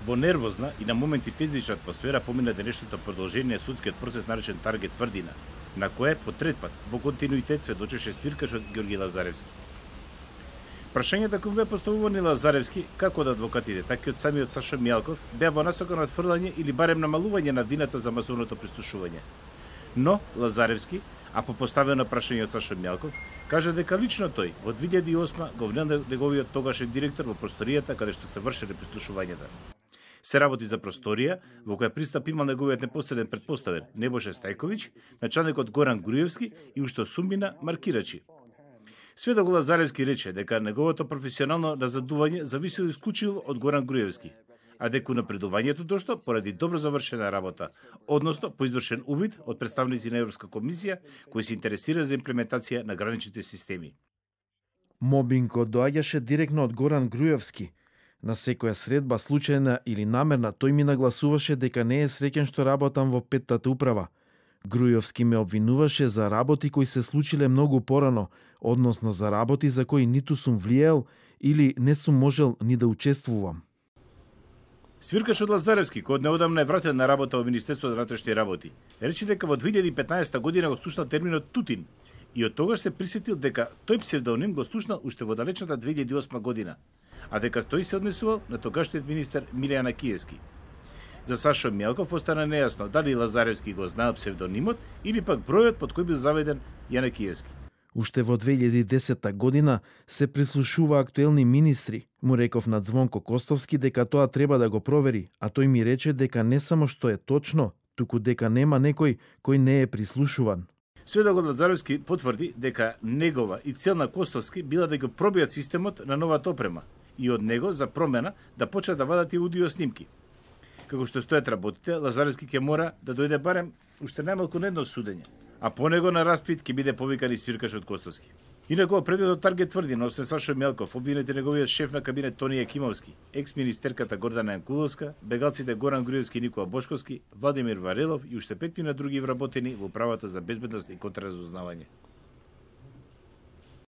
Во нервозна и на моменти тезнична атмосфера помина денешното продолжение судскиот процес наречен Таргет Тврдина, на кое по трет пат во континуитет сведочеше свиркачот Ѓорги Лазаревски. Прашањата кои беа поставувани Лазаревски, како од адвокатите, така и од самиот Сашо Мјалков, беа во насока на отфрлање или барем намалување на вината за масовното прислушување. Но Лазаревски, а по поставено прашање од Сашо Мјалков, кажа дека лично тој во 2008 го внел неговиот тогашен директор во просторијата каде што се вршеле прислушувањата. Се работи за просторија во која пристап имал неговиот непосреден претпоставен Небоше Стајковиќ, началникот Горан Груевски и уште сумина маркирачи. Сведок Лазаревски рече дека неговото професионално назадување зависело исклучиво од Горан Груевски, а дека напредувањето дошло поради добро завршена работа, односно по извршен увид од представници на Европска комисија кои се интересира за имплементација на граничните системи. Мобингот доаѓаше директно од Горан Груевски. На секоја средба, случајна или намерна, тој ми нагласуваше дека не е среќен што работам во петтата управа. Груевски ме обвинуваше за работи кои се случиле многу порано, односно за работи за кои ниту сум влиел или не сум можел ни да учествувам. Свиркачот Лазаревски, кој однеодамна е вратен на работа во Министерството за внатрешни работи, рече дека во 2015 година го слушнал терминот Тутин и од тогаш се присетил дека тој псевдоним го слушнал уште во далечната 2008 година, а дека тој се однесувал на тогашниот министер Милјан Акиевски. За Сашо Мјалков остана нејасно дали Лазаревски го знаел псевдонимот или пак бројот под кој бил заведен Јанакиевски. Уште во 2010 година се прислушува актуелни министри. Му реков на Звонко Костовски дека тоа треба да го провери, а тој ми рече дека не само што е точно, туку дека нема некој кој не е прислушуван. Сведокот Лазаревски потврди дека негова и цел на Костовски била да го пробијат системот на новата опрема и од него за промена да почнат да вадат и аудио снимки. Како што стојат работите, Лазаревски ќе мора да дојде барем уште најмалку на едно судење, а по него на распит ќе биде повикан и свиркачот Костовски. Инаку предметот Таргет Тврдина, освен Сашо Мјалков, обвинет неговиот шеф на кабинет Тони Јакимовски, екс-министерката Гордана Јанкуловска, бегалците Горан Груевски и Никола Бошковски, Владимир Варелов и уште 5 други вработени во управата за безбедност и контраразузнавање.